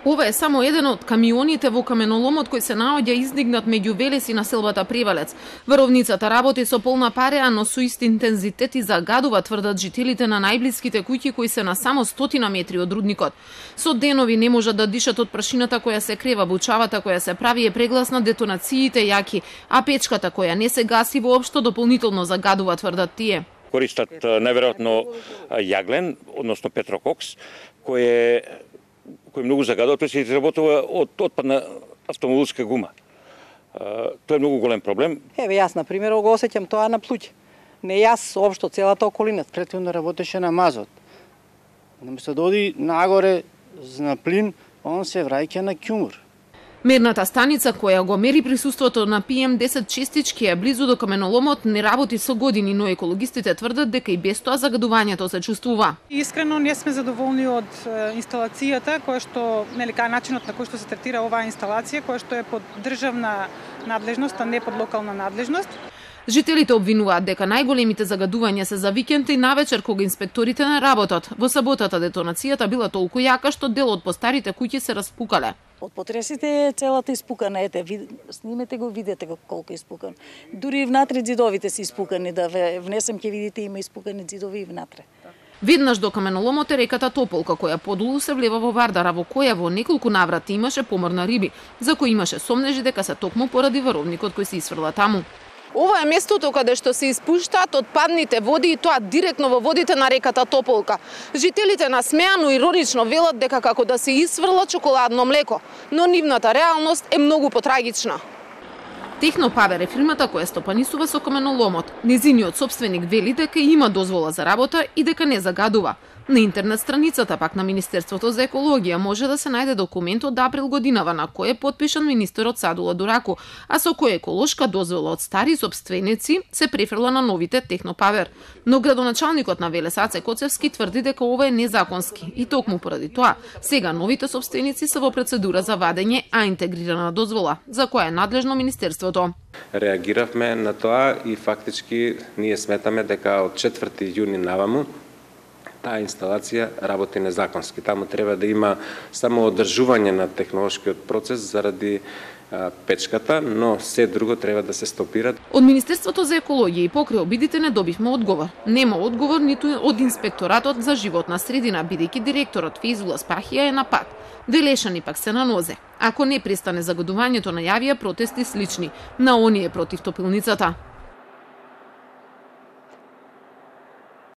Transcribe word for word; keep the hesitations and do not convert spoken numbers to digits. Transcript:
Ова е само еден од камионите во каменоломот кој се наоѓа издигнат меѓу Велес и населбата Превалец. Варовницата работи со полна пареа, но со ист интензитет и загадува, тврдат жителите на најблиските куќи кои се на само стотина метри од рудникот. Со денови не можат да дишат од прашината која се крева, бучавата која се прави е прегласна, детонациите јаки, а печката која не се гаси воопшто дополнително загадува, тврдат тие. Користат најверојатно јаглен, односно петрококс, кој е кој многу загадува, тој се изработува од отпадна автомобилска гума. Тоа е многу голем проблем. Еве јас на пример го осеќам тоа на плуќ. Не јас, општо целата околина. Претходно работеше на мазот. Наместо да оди нагоре на плин, он се враќа на ќумур. Мерната станица која го мери присуството на пи ем десет честички е близу до каменоломот, не работи со години, но екологистите тврдат дека и без тоа загадувањето се чувствува. Искрено не сме задоволни од инсталацијата, која што, нели, кај начинот на кој што се третира оваа инсталација, која што е под државна надлежност, а не под локална надлежност. Жителите обвинуваат дека најголемите загадувања се за викенд и навечер кога инспекторите не работат. Во саботата детонацијата била толку јака што дел од постарите куќи се распукале. Од потресите е целата испукана, ете, ви, снимете го, видете го колку е испукан. Дури внатре ѕидовите се испукани, да внесем ќе видите има испукани ѕидови и внатре. Веднаш до каменоломот е реката Тополка, која подолу се влева во Вардар, во која во неколку наврати имаше помор на риби, за кој имаше сомнежи дека се токму поради варовникот кој се исфрла таму. Ова е местото каде што се испуштаат отпадните води и тоа директно во водите на реката Тополка. Жителите насмеано иронично велат дека како да се исфрла чоколадно млеко, но нивната реалност е многу потрагична. Технопавер е фирмата која стопанисува со каменоломот. Незиниот сопственик вели дека има дозвола за работа и дека не загадува. На интернет страницата пак на Министерството за екологија може да се најде документ од април годинава на кој е потпишан министерот Садула Дураку, а со кој еколошка дозвола од стари сопственици се префрла на новите Технопавер. Но градоначалникот на Велес Аце Коцевски тврди дека ова е незаконски и токму поради тоа сега новите сопственици се во процедура за вадење а интегрирана дозвола, за која е надлежно министерството. Реагиравме на тоа и фактички ние сметаме дека од четврти јуни наваму таа инсталација работи незаконски. Таму треба да има само одржување на технолошкиот процес заради а, печката, но се друго треба да се стопира. Од Министерството за екологија и покрај обидите не добивме одговор. Нема одговор ниту од Инспекторатот за животна средина, бидејќи директорот Фейзула Спахија е на пат. Велешани пак се на нозе. Ако не престане загадувањето, најавија протести слични на оние против топилницата.